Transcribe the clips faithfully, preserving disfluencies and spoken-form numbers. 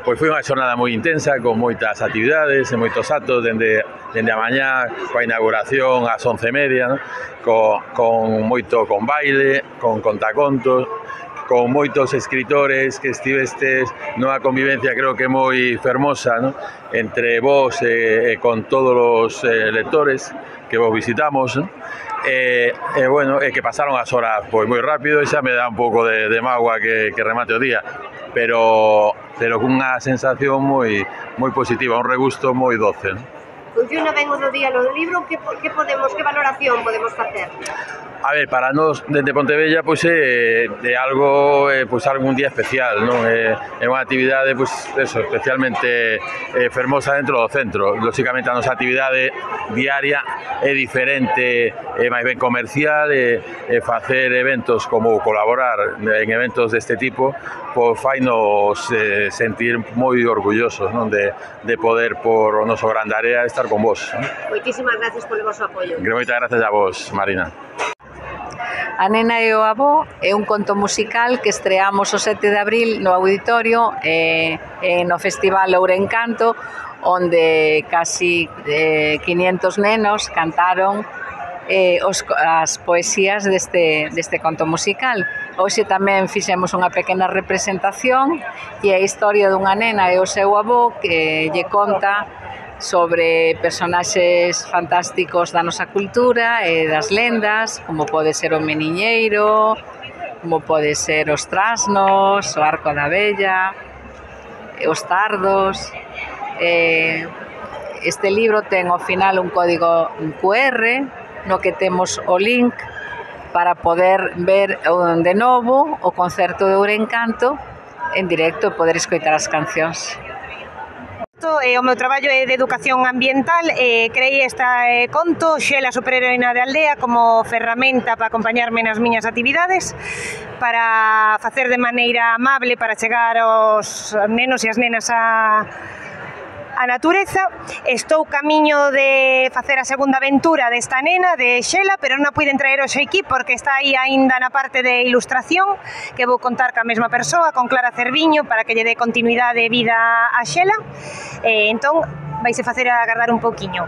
Pois foi unha xornada moi intensa, con moitas actividades e moitos actos, dende, dende a mañá, coa inauguración ás once e media, no? con, con moito con baile, con contacontos, con moitos escritores que estivestes nunha convivencia creo que moi fermosa, no? Entre vos e, e con todos os eh, lectores que vos visitamos, no? E, e bueno, e que pasaron as horas pois moi rápido e xa me dá un pouco de, de mágoa que, que remate o día, pero pero cunha sensación moi moi positiva, un regusto moi doce, non? Funciona ben o do día no libro, que, que podemos, que valoración podemos facer? A ver, para nós dende Pontevella pois é, é algo eh, pois algún día especial, non? É, é unha actividade pois eso, especialmente eh, fermosa dentro do centro. Lóxicamente a nosa actividade diaria é diferente, é máis ben comercial, e, e facer eventos como colaborar en eventos deste tipo, pois fainos eh, sentir moi orgullosos, non? De, de poder por o noso grande área estar con vos, non? Moitísimas gracias polo vosso apoio. Moitas gracias a vos, Marina. A nena e o avó é un conto musical que estreamos o sete de abril no auditorio e, e no Festival Ourencanto, onde casi eh, quinientos nenos cantaron eh, os, as poesías deste, deste conto musical. Hoxe tamén fixemos unha pequena representación e a historia dunha nena e o seu avó que lle conta sobre personaxes fantásticos da nosa cultura e das lendas, como pode ser o Meniñeiro, como pode ser os trasnos, o arco da vella, os tardos. Este libro ten ao final un código Q R no que temos o link para poder ver de novo o concerto de Ourencanto en directo e poder escoitar as cancións. O meu traballo é de educación ambiental e creei esta eh, conto, Xela, superheroína de aldea, como ferramenta para acompañarme nas miñas actividades, para facer de maneira amable, para chegar aos nenos e as nenas a a natureza. Estou camiño de facer a segunda aventura desta nena, de Xela, pero non a puiden traer hoxe aquí porque está aí aínda na parte de ilustración, que vou contar ca mesma persoa, con Clara Cerviño, para que lle dé continuidade e vida a Xela. E entón, vaise facer agardar un pouquiño.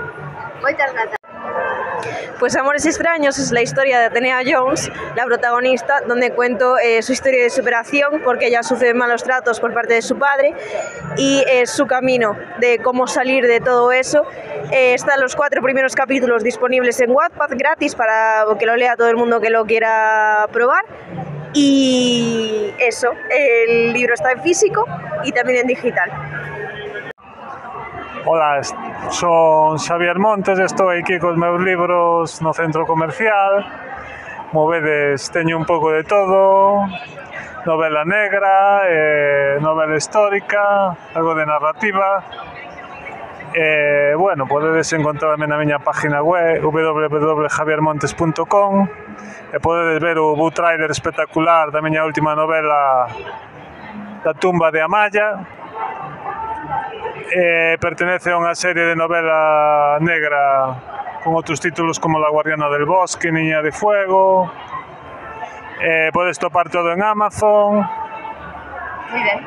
Moitas grazas. Pues Amores extraños es la historia de Atenea Jones, la protagonista, donde cuento eh, su historia de superación porque ella sufre malos tratos por parte de su padre y eh, su camino de cómo salir de todo eso. Eh, están los cuatro primeros capítulos disponibles en Wattpad gratis para que lo lea todo el mundo que lo quiera probar. Y eso, el libro está en físico y también en digital. Ola, son Xavier Montes, estou aquí cos meus libros no centro comercial. Como vedes, teño un pouco de todo, novela negra, eh, novela histórica, algo de narrativa. Eh, bueno, podedes encontrarme na miña página web w w w punto javier montes punto com e podedes ver o book trailer espectacular da miña última novela, Da tumba de Amaya. Eh, pertenece a unha serie de novela negra con outros títulos como La guardiana del bosque, Niña de fuego. Eh, podes topar todo en Amazon. Muy ben.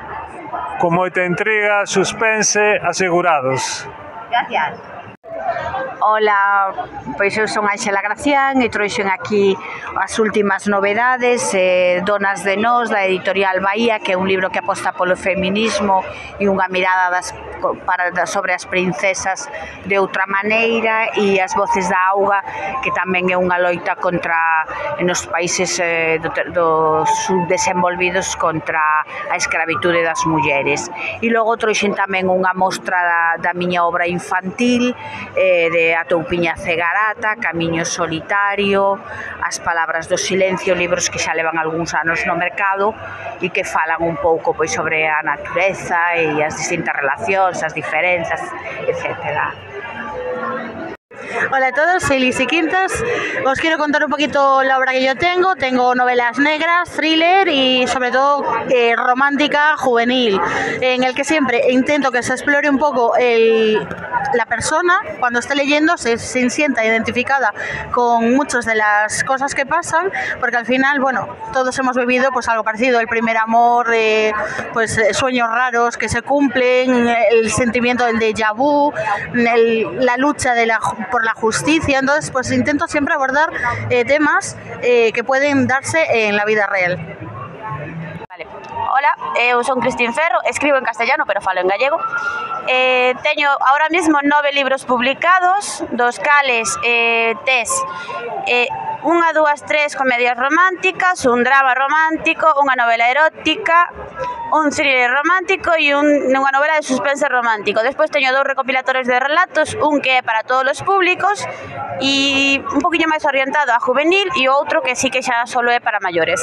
Con moita intriga, suspense, asegurados. Gracias. Ola, pois eu son Ángela Gracián e trouxen aquí as últimas novedades, eh, Donas de Nós, da editorial Bahía, que é un libro que aposta polo feminismo e unha mirada das, para, sobre as princesas de outra maneira, e As voces da auga, que tamén é unha loita contra, nos países eh, do, do subdesenvolvidos, contra a escravitude das mulleres. E logo trouxen tamén unha mostra da, da miña obra infantil, eh, de A toupiña cegarata, Camiño solitario, As palabras do silencio, libros que xa levan algúns anos no mercado e que falan un pouco pois sobre a natureza e as distintas relacións, as diferenzas, etcétera. Hola a todos, soy Lisi Quintas. Os quiero contar un poquito la obra que yo tengo. Tengo novelas negras, thriller y sobre todo eh, romántica, juvenil, en el que siempre intento que se explore un poco el, la persona cuando esté leyendo, se, se sienta identificada con muchas de las cosas que pasan, porque al final, bueno, todos hemos vivido pues algo parecido, el primer amor, eh, pues sueños raros que se cumplen, el sentimiento del déjà vu, el, la lucha de la, por la justicia. Entonces pues intento siempre abordar eh, temas eh, que pueden darse en la vida real. Vale. Hola, eu son Cristín Ferro, escribo en castellano pero falo en gallego. Eh, teño ahora mismo nove libros publicados, dos cales eh, tes eh, unha, dúas, tres comedias románticas, un drama romántico, unha novela erótica, un thriller romántico e un, unha novela de suspense romántico. Despois teño dous recopilatorios de relatos, un que é para todos os públicos e un poquinho máis orientado a juvenil e outro que sí que xa solo é para maiores.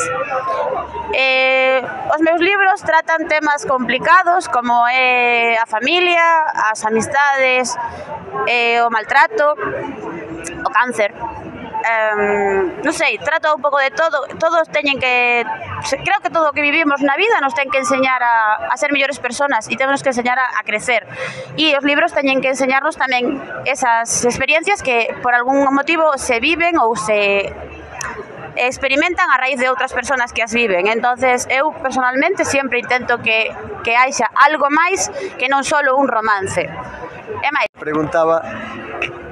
Eh, os meus libros tratan temas complicados como é a familia, as amistades, eh, o maltrato, o cáncer. Um, non sei, trato un pouco de todo. Todos teñen que, creo que todo o que vivimos na vida nos ten que enseñar a, a ser mellores personas e temos que enseñar a, a crecer, e os libros teñen que enseñarnos tamén esas experiencias que por algún motivo se viven ou se experimentan a raíz de outras persoas que as viven. Entonces eu personalmente sempre intento que, que haixa algo máis que non só un romance. É máis. Preguntaba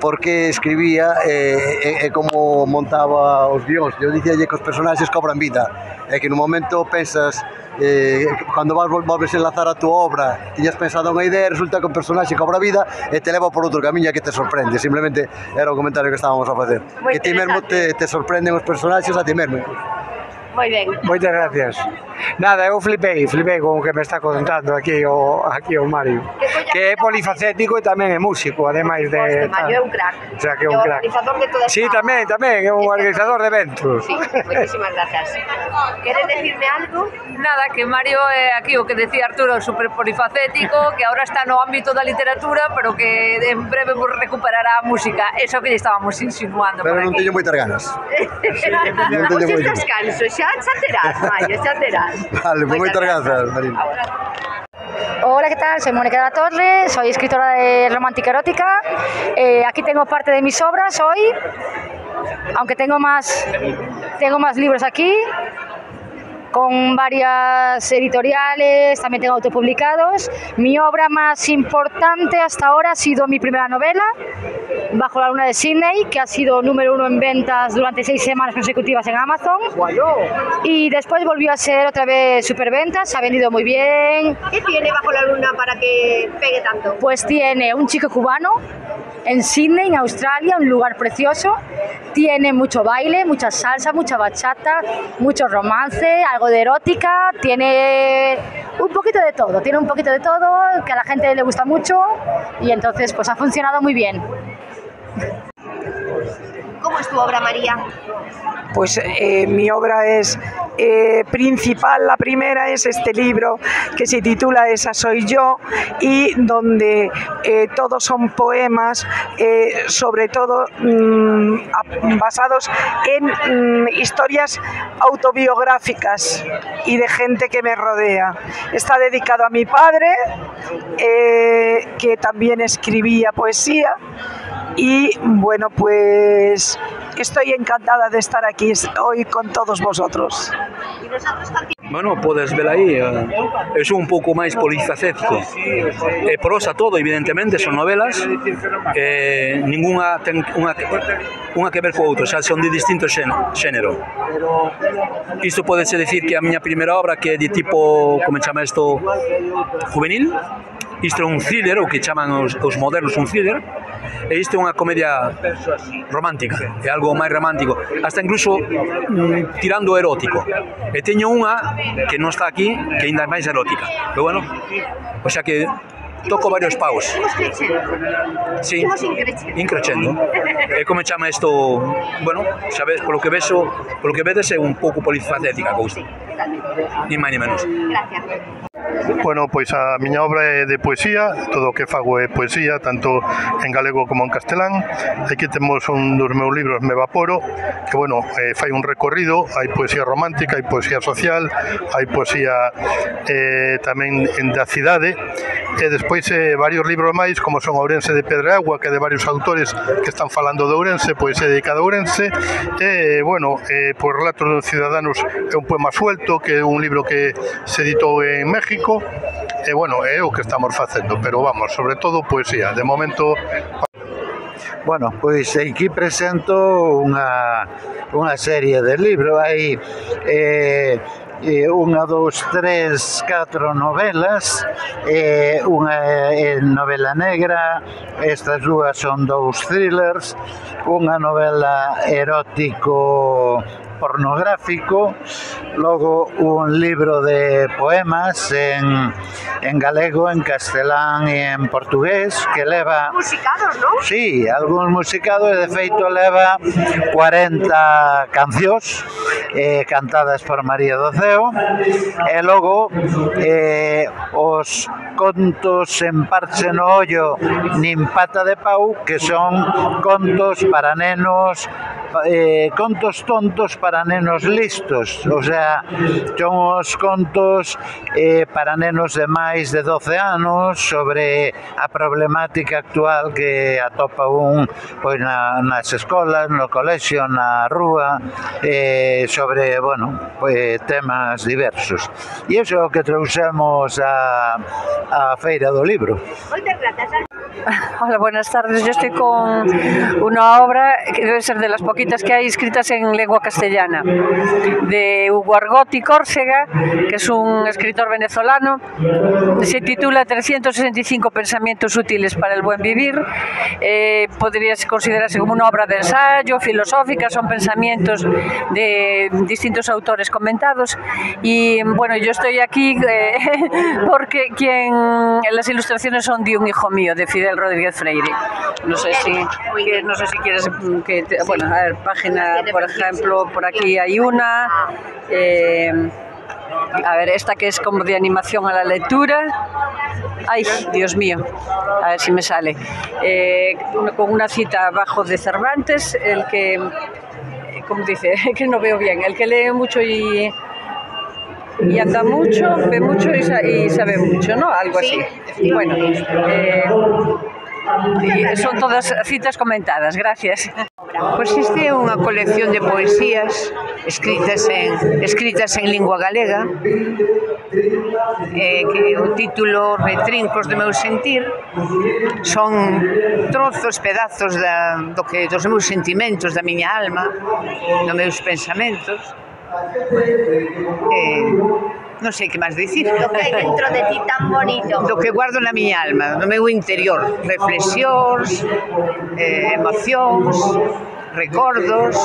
por que escribía e, e, e como montaba os guións. Eu dicíalle que os personaxes cobran vida e que no momento pensas eh, cando vas volves a enlazar a túa obra, tiñas pensado unha idea e resulta que o personaxe cobra vida e te leva por outro camiño que te sorprende. Simplemente era o comentario que estábamos a facer, que ti mesmo te, te sorprenden os personaxes a ti mesmo. Moi ben. Moitas gracias. Nada, eu flipei, flipei con o que me está contando aquí o, aquí o Mario, que é polifacético e tamén é músico, ademais de... Mario é un crack. O sea, que é un crack. Organizador de toda esta... Sí, tamén, tamén, é un organizador de eventos. Sí, moitísimas gracias. Queres decirme algo? Nada, que Mario é aquí o que decía Arturo, super polifacético, que ahora está no ámbito da literatura, pero que en breve recuperará a música. Eso que lle estábamos insinuando. Pero non teño moitas ganas. Non teño moitas ganas. Xa, xa terás, Mario, xa terás. Vale, pues moitas grazas, Marín. Hola, ¿qué tal? Soy Mónica de la Torre, soy escritora de romántica erótica. Eh, aquí tengo parte de mis obras hoy, aunque tengo más, tengo más libros aquí, con varias editoriales, también tengo autopublicados. Mi obra más importante hasta ahora ha sido mi primera novela, Bajo la luna de Sydney, que ha sido número uno en ventas durante seis semanas consecutivas en Amazon. Y después volvió a ser otra vez superventas, ha vendido muy bien. ¿Qué tiene Bajo la luna para que pegue tanto? Pues tiene un chico cubano en Sydney, en Australia, un lugar precioso. Tiene mucho baile, mucha salsa, mucha bachata, mucho romance, algo de erótica, tiene un poquito de todo, tiene un poquito de todo, que a la gente le gusta mucho y entonces pues ha funcionado muy bien. ¿Cómo es tu obra, María? Pues eh, mi obra es eh, principal, la primera es este libro que se titula Esa soy yo y donde eh, todos son poemas, eh, sobre todo mmm, basados en mmm, historias autobiográficas y de gente que me rodea. Está dedicado a mi padre, eh, que también escribía poesía. Y bueno, pues estoy encantada de estar aquí hoy con todos vosotros. Bueno, podes ver aí, eu sou un pouco máis polifacético. É prosa todo, evidentemente, son novelas, eh, ninguna ten unha, unha que ver co outro, xa son de distinto xénero. Isto podese decir que a miña primeira obra, que é de tipo, como chama isto, juvenil, isto é un thriller, o que chaman os, os modernos un thriller, e isto é unha comedia romántica, é algo máis romántico, hasta incluso mm, tirando erótico. E teño unha que non está aquí, que ainda é máis erótica. Pero bueno, o sea que toco varios paus. Imos crecendo. Sí, Imos increcendo. increcendo. E como chama isto, bueno, sabes, polo que vexo, polo que vedes é un pouco polifacética a cousa. Ni máis ni menos. Gracias. Bueno, pois a miña obra é de poesía, todo o que fago é poesía, tanto en galego como en castelán. Aquí temos un dos meus libros, Me Vaporo, que, bueno, eh, fai un recorrido, hai poesía romántica, hai poesía social, hai poesía eh, tamén da cidade, e despois eh, varios libros máis, como son Ourense de Pedreagua, que é de varios autores que están falando de Ourense, poesía dedicada a Ourense, e, bueno, eh, por Relatos dos Ciudadanos é un poema suelto, que é un libro que se editou en México. E, bueno, é o que estamos facendo, pero vamos, sobre todo poesía. De momento... Bueno, pois aquí presento unha, unha serie de libros. Hai eh, unha, dos, tres, catro novelas, eh, unha é novela negra, estas dúas son dous thrillers, unha novela erótico pornográfico, logo un libro de poemas en, en galego, en castelán e en portugués, que leva... Musicados, non? Sí, algúns musicados, e de feito leva cuarenta cancións eh, cantadas por María do Ceo, e logo eh, os contos en parche no ollo nin pata de pau, que son contos para nenos, eh, contos tontos para nenos listos, o sea, son os contos eh, para nenos de máis de doce anos sobre a problemática actual que atopa un pois, na, nas escolas, no colexio, na rúa, eh, sobre, bueno, pois, temas diversos. E iso é o que trouxemos a, a Feira do Libro. Moitas grazas. Hola, buenas tardes. Yo estoy con una obra que debe ser de las poquitas que hay escritas en lengua castellana, de Hugo Argote Córcega, que es un escritor venezolano. Se titula trescientos sesenta y cinco pensamientos útiles para el buen vivir. Eh, podría considerarse como una obra de ensayo, filosófica, son pensamientos de distintos autores comentados. Y bueno, yo estoy aquí eh, porque quien las ilustraciones son de un hijo mío, de Fidel Rodríguez Freire. No sé si, que, no sé si quieres que te, bueno, a ver, página, por ejemplo, por aquí hay una. Eh, a ver, esta que es como de animación a la lectura. Ay, Dios mío, a ver si me sale. Eh, con una cita abajo de Cervantes, el que, como dice, que no veo bien, el que lee mucho y... y anda mucho, ve mucho y, sa y sabe mucho, ¿no? Algo así. Sí. Bueno, eh, y son todas citas comentadas, gracias. Pois este é unha colección de poesías escritas en, escritas en lingua galega, eh, que o título Retrincos do meu sentir, son trozos, pedazos da, do que, dos meus sentimentos, da miña alma, dos meus pensamentos. Eh, non sei que máis dicir. Do que hai dentro de ti tan bonito. Do que guardo na miña alma, no meu interior. Reflexións, eh, emocións, recordos.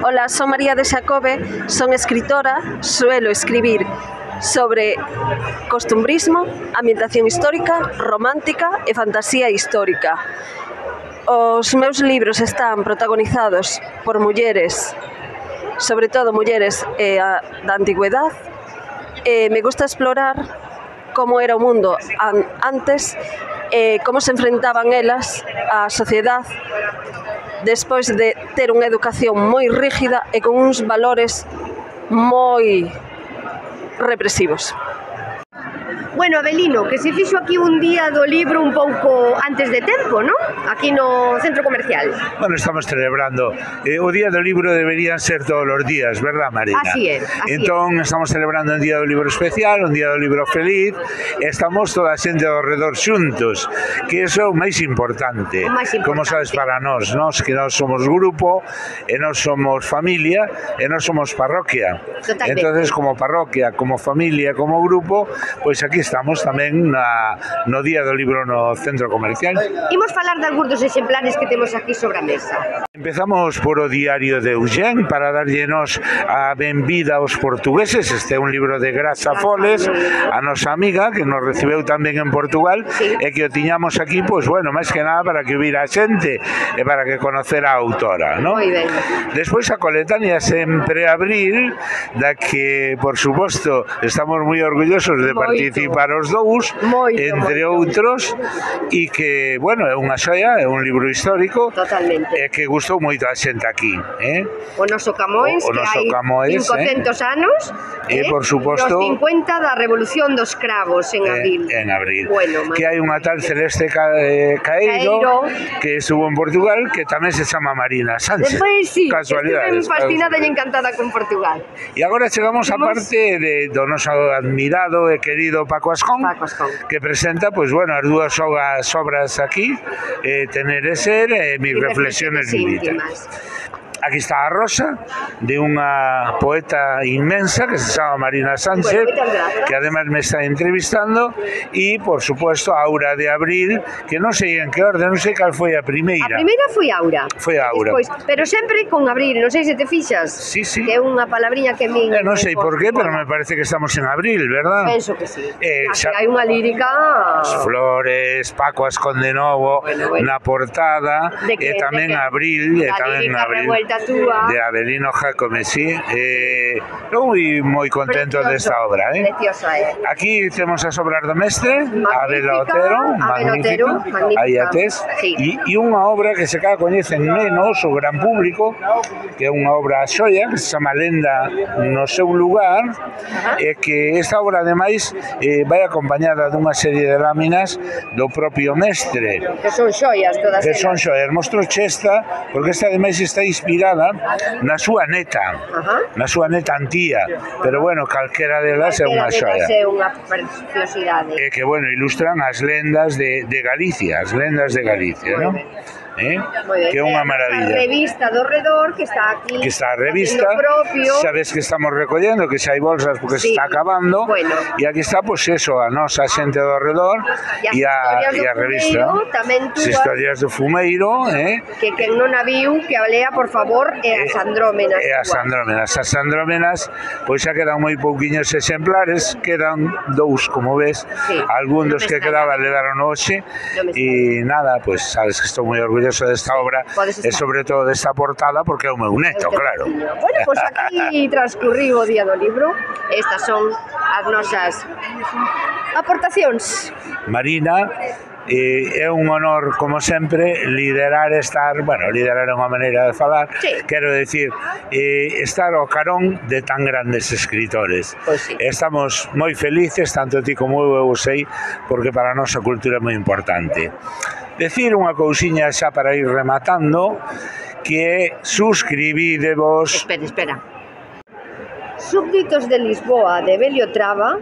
Hola, son María de Xacobe, son escritora, suelo escribir sobre costumbrismo, ambientación histórica, romántica e fantasía histórica. Os meus libros están protagonizados por mulleres, sobre todo mulleres eh, da antigüedad. Eh, me gusta explorar como era o mundo an antes, eh, como se enfrentaban elas á sociedade despois de ter unha educación moi rígida e con uns valores moi represivos. Bueno, Abelino, que se fixo aquí un día do libro un pouco antes de tempo, ¿no? Aquí no centro comercial. Bueno, estamos celebrando. Eh, o Día do Libro deberían ser todos os días, verdad, Marina? Así é, así entón, es. Estamos celebrando un Día do Libro especial, un Día do Libro feliz, e estamos toda a xente ao redor xuntos, que iso é o máis importante. O máis importante. Como sabes, para nós, nós que nós somos grupo, e nós somos familia, e nós somos parroquia. Totalmente. Entonces, como parroquia, como familia, como grupo, pois pues aquí estamos tamén na, no Día do Libro no centro comercial. Imos falar da algúns dos exemplares que temos aquí sobre a mesa. Empezamos por o Diario de Eugén para darllenos a benvida aos portugueses. Este é un libro de Graça Foles, a nosa amiga que nos recibeu tamén en Portugal, sí. E que o tiñamos aquí, pois bueno, máis que nada para que vira a xente e para que conocera a autora, non? Moi ben. Despois a coletánea Sempre Abril, da que, por suposto, estamos moi orgullosos de moito. Participar os dous, moito, entre moito. Outros, e que, bueno, é unha xoia, é un libro histórico. Totalmente. E que gustou moito a xente aquí, eh? O noso Camões, o, o noso que hai Camões, cincocentos eh? anos, e, eh? por suposto, os cincuenta da Revolución dos Cravos en abril. Eh, en abril. Bueno, que hai unha tal Celeste Ca eh, Caeiro, Caeiro, que estuvo en Portugal, que tamén se chama Marina Sánchez. Despois, sí, casualidades. Estuve fascinada e encantada con Portugal. E agora chegamos á parte de, do noso admirado e querido Paco Ascón, Paco Ascón. Que presenta, pois, bueno, as dúas obras aquí, eh, Tener e Ser e Mis Reflexiones Íntimas. Aquí está a Rosa, de unha poeta inmensa que se chama Marina Sánchez, bueno, que además me está entrevistando, e, por supuesto, Aura de Abril, que non sei en que orden, non sei cal foi a primeira. A primeira foi Aura. Foi Aura. Despois, pero sempre con Abril, non sei se te fixas. Sí, sí. Que é unha palabriña que min... Eh, non sei por qué, pero me parece que estamos en Abril, verdad? Penso que sí. Eh, xa... hai unha lírica... As flores, Paco Ascón de novo, bueno, bueno. Na portada, que, e tamén Abril, e tamén Abril. Túa. De Avelino Jacome, sí. Eh, non moi moi contento Precioso. Desta obra, eh? Preciosa, eh? Aquí temos as obras do mestre, Abel Otero, magnífica, aí a tes, sí. e, e unha obra que se cada coñecen menos o gran público, que é unha obra xoia, que se chama Lenda no seu lugar, uh-huh. E que esta obra, ademais, eh, vai acompañada dunha serie de láminas do propio mestre. Que son xoias todas Que elas. Son xoias. Mostro esta, porque esta, ademais, está inspirada na súa neta, uh-huh. na súa neta Antía, pero bueno, calquera delas é unha xoia. É unha preciosidade. E que, bueno, ilustran as lendas de, de Galicia, as lendas de Galicia, non? Eh? Que é unha maravilla. A revista do redor que está aquí. Que está a revista. Sabes que estamos recollendo, que xa hai bolsas porque sí. Se está acabando. Bueno. E aquí está, pois, pues, eso, a nosa xente do redor e a, e a revista. Tamén as historias do fumeiro, eh? Que quen non a viu, que a lea, por favor, e as andrómenas. E as andrómenas. As andrómenas, pois xa quedan moi pouquiños exemplares, quedan dous, como ves. Sí. Algún dos no que quedaba levaron hoxe. No e nada, pois, pues, sabes que estou moi orgulloso desta obra e sobre todo desta portada porque é o meu neto, claro. Bueno, pois pues aquí transcurriu o día do libro. Estas son as nosas aportacións. Marina, eh, é un honor, como sempre, liderar estar, bueno, liderar é unha maneira de falar, sí. Quero decir, eh, estar ao carón de tan grandes escritores. Pues sí. Estamos moi felices, tanto ti como eu, eu sei, porque para a nosa cultura é moi importante. Decir unha cousiña xa para ir rematando, que é suscribidevos... Espera, espera. Súbditos de Lisboa, de Belio Traba,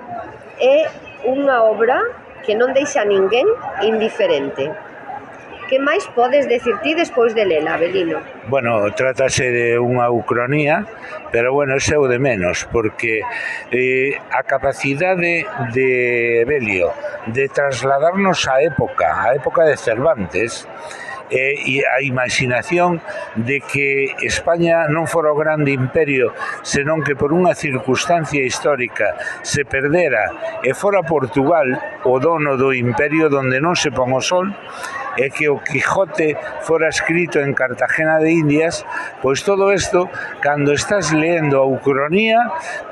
é unha obra que non deixa ninguén indiferente. Que máis podes decir ti despois de lela, Avelino? Bueno, trátase de unha ucronía, pero bueno, ese é o de menos, porque eh, a capacidade de Belio de trasladarnos á época, á época de Cervantes, eh, e a imaginación de que España non fora o grande imperio, senón que por unha circunstancia histórica se perdera e fora Portugal o dono do imperio donde non se pon o sol, e que o Quijote fora escrito en Cartagena de Indias, pois todo isto, cando estás leendo a ucronía,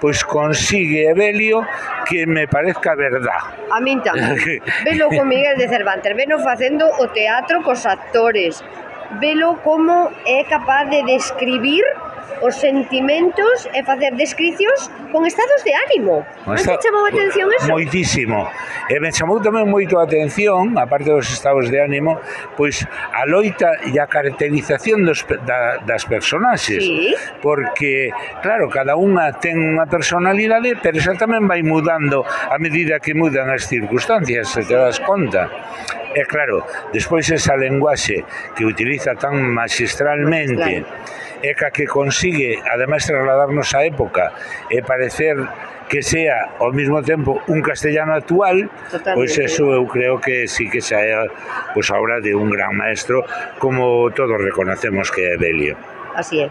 pois consigue Evelio que me parezca verdad. A min tamén. Velo con Miguel de Cervantes, velo facendo o teatro cos actores, velo como é capaz de describir os sentimentos e facer descricións con estados de ánimo. Non te chamou a atención eso? Moitísimo. E me chamou tamén moito a atención, aparte dos estados de ánimo, pois a loita e a caracterización dos, da, das personaxes. Sí. Porque, claro, cada unha ten unha personalidade, pero xa tamén vai mudando a medida que mudan as circunstancias, se te das conta. E claro, despois esa lenguaxe que utiliza tan magistralmente, claro, e ca que consigue, ademais, trasladarnos á época e parecer que sea ao mesmo tempo un castellano actual, pois eso eu creo que sí que xa é pois, a obra de un gran maestro, como todos reconocemos que é Belio. Así é.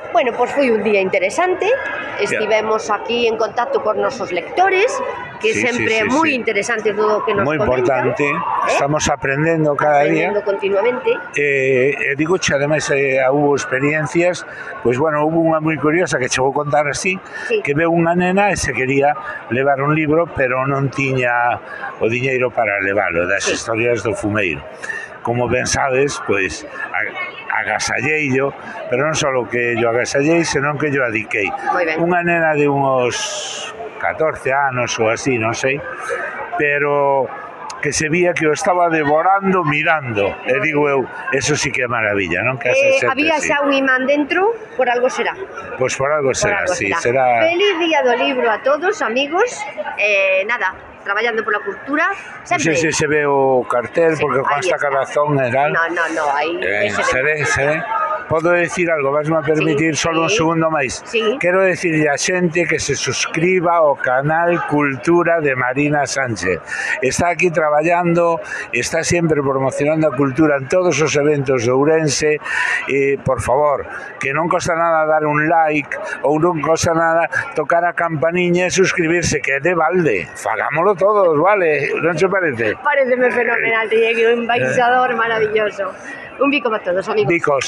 Bueno, pois foi un día interesante, estivemos aquí en contacto con nosos lectores, que Sí, sempre sí, é sí, moi sí. interesante todo o que nos Moi comentan. importante, eh? estamos aprendendo cada día. Aprendendo continuamente. Eh, e digo che, ademais, eh, hubo experiencias, pois, bueno, hubo unha moi curiosa que chegou a contar así, Sí. que veu unha nena e se quería levar un libro, pero non tiña o diñeiro para levalo, das Sí. historias do fumeiro. Como ben sabes, pois, agasalleillo, pero non só que yo agasallei, senón que yo adiquei. Moi ben. Unha nena de uns catorce anos ou así, non sei, pero que se vía que o estaba devorando mirando. E digo eu, eso sí que é maravilla, non? Que Eh, hace xente había así. xa un imán dentro, por algo será. Pois por algo Por será, algo sí, será. será... Feliz día do libro a todos, amigos. Eh, nada, traballando pola cultura. Non Sempre. sei se se ve o cartel, Sí, porque con aí esta está. calazón e tal. No, no, no, aí Eh, ese se ve, se ve. Podo decir algo, vasme a permitir Sí, solo un sí. segundo máis. Sí. Quero decirle a xente que se suscriba ao canal Cultura de Marina Sánchez. Está aquí traballando, está sempre promocionando a cultura en todos os eventos de Ourense. Eh, por favor, que non costa nada dar un like ou non costa nada tocar a campaniña e suscribirse, que é de balde. Fagámoslo todos, vale? Non se parece? Pareceme fenomenal, te llegue un embaixador maravilloso. Un bico para todos, amigos. Bicos.